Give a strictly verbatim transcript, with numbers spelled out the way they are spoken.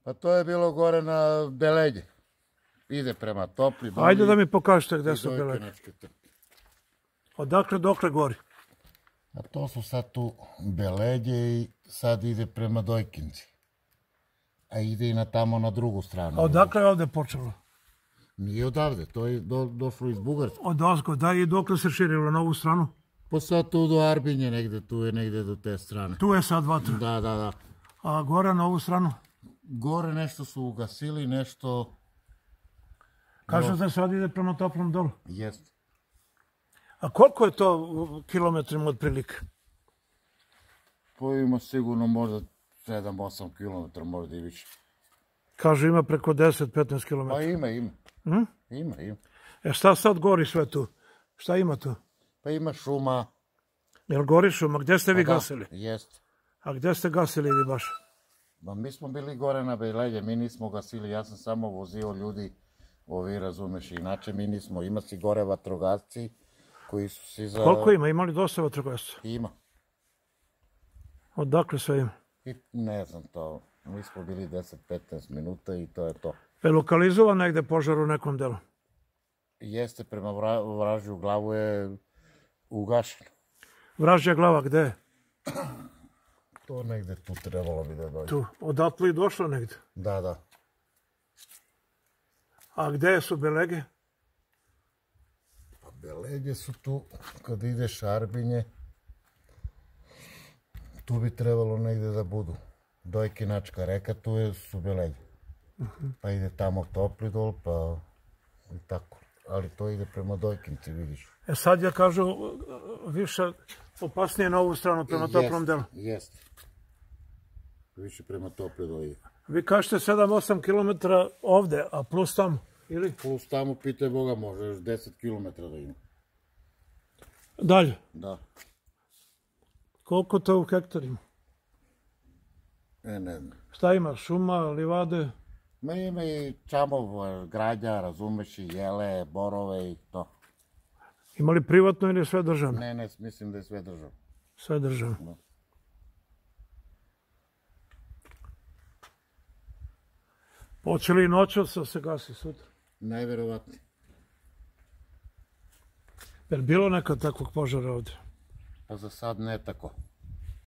Pa to je bilo gore na Beledje. Ide prema Topli. Ajde da mi pokažete gde su Beledje. Odakle dokle gori? A to su sad tu Beledje i sad ide prema Dojkinci. A ide i na tamo na drugu stranu. A odakle je ovde počelo? Nije odavde, to je došlo iz Bugarske. Od ozgo, da, i dokle se širilo na ovu stranu? Pa sad tu do Arbinje negde, tu je negde do te strane. Tu je sad vatra? Da, da, da. A gore na ovu stranu? Gore nešto su ugasili, nešto... Kažu da se sad ide prema Toplom Dolu? Jeste. A koliko je to u kilometrima otprilike? Pa ima sigurno možda sedam osam kilometara, možda i više. Kažu ima preko deset do petnaest kilometara. Pa ima, ima. Ima, ima. E šta sad gori sve tu? Šta ima tu? Pa ima šuma. Jel gori šuma? Gdje ste vi gasili? Jeste. A gdje ste gasili vi baš? Ma mi smo bili gore na Beledje, mi nismo gasili, ja sam samo vozio ljudi, ovi razumeš, inače mi nismo, ima si gore vatrogasci koji su si za... Koliko ima? Ima li dosta vatrogasaca? Ima. Odakle sve ima? Ne znam to, mi smo bili deset do petnaest minuta i to je to. Je lokalizovan negde požar u nekom delu? Jeste, prema Vražju glavu je ugašen. Vražja glava, gde je? To negde tu trebalo bi da dođe. Tu, odatle i došlo negde? Da, da. A gde su Belege? Pa Beledje su tu, kad ideš Arbinje, tu bi trebalo negde da budu. Dojkinačka reka, tu su Beledje. Pa ide tamo Topli Dol, pa i tako. Ali to ide prema Dojkinci, vidiš. E sad ja kažu više opasnije na ovu stranu, prema Toplom Delu. Jeste. Više prema Topli Dol ide. Vi kažete sedam osam kilometara ovde, a plus tamo, ili? Plus tamo, pitaj Boga, može još deset kilometara da ima. Dalje? Da. Koliko to u hektarima? E, ne znam. Šta ima? Šuma, livade? Ma ima i čamov, građa, razumeš, i jele, borove i to. Ima li privatno ili sve državno? Ne, ne, mislim da je sve državno. Sve državno. Hoće li noćas da se gasi sutra? Najverovatnije. Je li bilo nekad takvog požara ovde? Pa za sad ne tako.